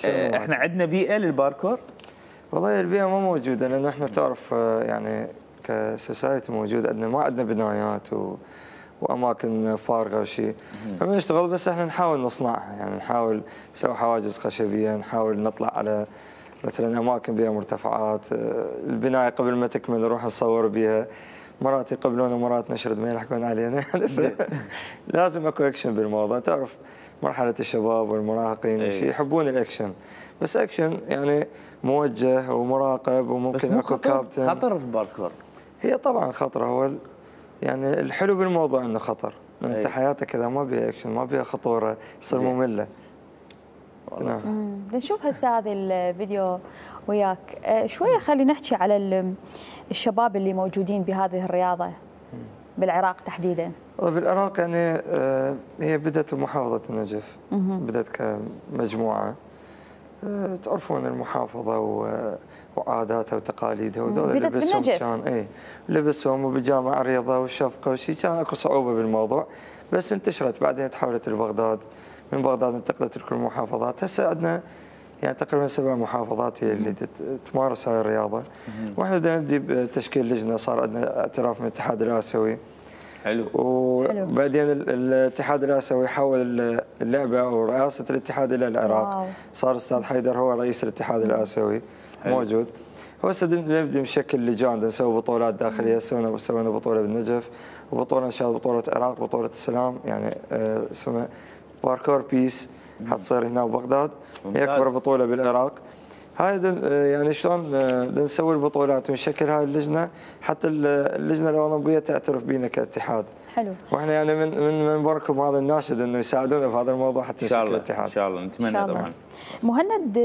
احنا عندنا بيئه للباركور؟ والله البيئه ما موجوده، لانه احنا تعرف يعني كسوسايتي موجود عندنا، ما عندنا بنايات واماكن فارغه وشيء، فما نشتغل. بس احنا نحاول نصنعها، يعني نحاول نسوي حواجز خشبيه، نحاول نطلع على مثلا اماكن بها مرتفعات، البنايه قبل ما تكمل نروح نصور بها، مرات يقبلونا مرات نشرد ما يلحقون علينا. لازم اكو اكشن بالموضوع، تعرف مرحله الشباب والمراهقين وشي يحبون الاكشن، بس اكشن يعني موجه ومراقب، وممكن اكو كابتن. خطر في الباركور؟ هي طبعا خطره، هو يعني الحلو بالموضوع انه خطر، انت حياتك كذا ما بيها اكشن، ما بيها خطوره، تصير ممله. نعم. نشوف هسه هذا الفيديو وياك شويه، خلينا نحكي على الشباب اللي موجودين بهذه الرياضه بالعراق تحديدا. بالعراق يعني هي بدات بمحافظه النجف، بدات كمجموعه، تعرفون المحافظه وعاداتها وتقاليدها، وذول لبسهم كان لبسهم وبجامع الرياضه والشفقه وشي، كان اكو صعوبه بالموضوع، بس انتشرت بعدين تحولت لبغداد، من بغداد انتقلت لكل المحافظات. هسه عندنا يعني تقريبا 7 محافظات هي اللي تمارس هاي الرياضه، واحنا بدنا نبدي بتشكيل لجنه، صار عندنا اعتراف من الاتحاد الاسيوي. حلو. وبعدين الاتحاد الاسيوي حول اللعبه ورئاسه الاتحاد الى العراق. صار الاستاذ حيدر هو رئيس الاتحاد الاسيوي موجود. هسه نبدي نشكل لجان، نسوي بطولات داخليه، سوينا بطوله بالنجف، وبطوله ان شاء الله بطوله العراق، بطوله السلام، يعني اسمها باركور بيس، حتصير هنا ببغداد، هي اكبر بطوله بالعراق. هاي يعني شلون نسوي البطولات ونشكل هاي اللجنه، حتى اللجنه الاولمبيه تعترف بينا كاتحاد. حلو. واحنا يعني من منبركم هذا الناشد انه يساعدونا في هذا الموضوع حتى نشكل الاتحاد. ان شاء الله نتمنى طبعا. مهند،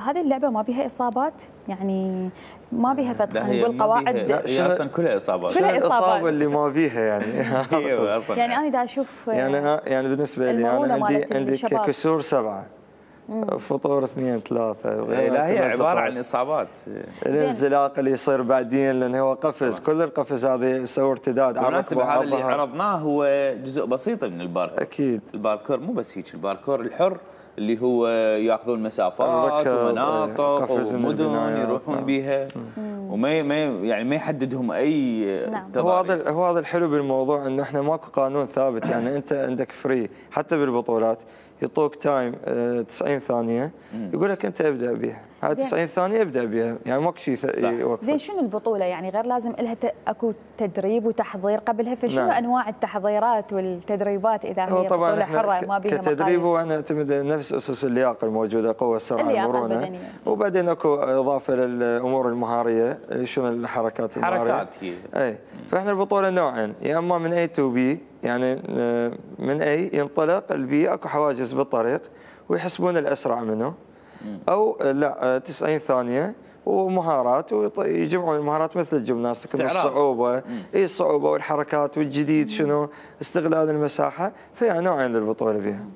هذه اللعبه ما بيها اصابات؟ يعني ما بيها فتح نقول قواعد؟ هي اصلا كلها اصابات. كلها الاصابه اللي ما بيها يعني. ايوه اصلا. يعني انا دا اشوف يعني بالنسبه لي انا عندي كسور 7، فطور 2 3. لا هي عباره عن اصابات. الانزلاق اللي يصير بعدين، لان هو قفز، كل القفز هذه يسوي ارتداد على الركبه. هذا اللي عرضناه هو جزء بسيط من الباركور. اكيد الباركور مو بس هيك، الباركور الحر اللي هو ياخذون مسافات ومناطق ومدن يروحون بيها، وما يعني ما يحددهم اي تضاريس. هو هذا الحلو بالموضوع، انه احنا ماكو قانون ثابت، يعني انت عندك فري حتى بالبطولات، يعطوك تايم 90 ثانيه، يقول لك انت ابدا بها، هاي 90 ثانيه ابدا بها، يعني ماكو شيء يوقف. زين شنو البطوله؟ يعني غير لازم لها اكو تدريب وتحضير قبلها، فشنو انواع التحضيرات والتدريبات اذا هي بطوله حره ما بها مقاييس؟ كتدريب هو نعتمد نفس اسس اللياقه الموجوده، قوه، السرعه، المرونه، وبعدين اكو اضافه للامور المهاريه، شنو الحركات المهاريه. حركات هي. فاحنا البطوله نوعين، يا اما من A to B، يعني من A ينطلق البي، اكو حواجز بالطريق ويحسبون الاسرع منه، او لا 90 ثانيه ومهارات، ويجمعون المهارات مثل الجمناستيك، الصعوبه، الصعوبه والحركات والجديد شنو، استغلال المساحه، فيها نوعين للبطوله بها.